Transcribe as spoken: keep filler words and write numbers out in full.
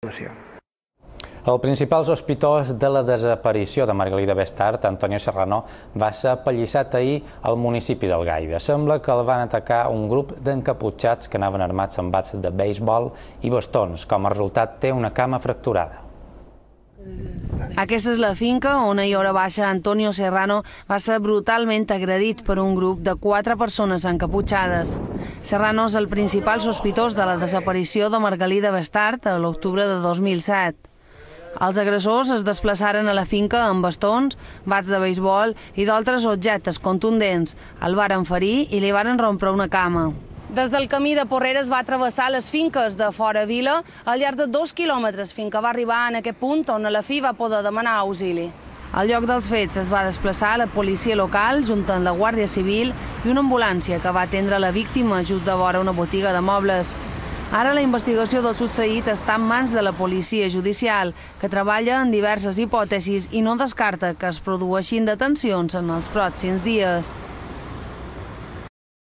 El principal sospitós de la desaparició de Margalida Bestart, Antonio Serrano, va ser apallissat ahir al municipi d'Algaida. Sembla que el van atacar un grup d'encaputxats que anaven armats amb bats de beisbol i bastons. Com a resultat, té una cama fracturada. Aquesta és la finca on ahir hora baixa Antonio Serrano va ser brutalment agredit per un grup de quatre persones encaputxades. Serrano és el principal sospitós de la desaparició de Margalida Bestart a l'octubre de dos mil set. Els agressors es desplaçaren a la finca amb bastons, bats de beisbol i d'altres objectes contundents. El varen ferir i li varen rompre una cama. Des del camí de Porreres va travessar les finques de fora vila al llarg de dos quilòmetres fins que va arribar en aquest punt on a la fi va poder demanar auxili. Al lloc dels fets es va desplaçar la policia local junt amb la Guàrdia Civil i una ambulància que va atendre la víctima just de vora una botiga de mobles. Ara la investigació del succeït està en mans de la policia judicial, que treballa en diverses hipòtesis i no descarta que es produeixin detencions en els pròxims dies.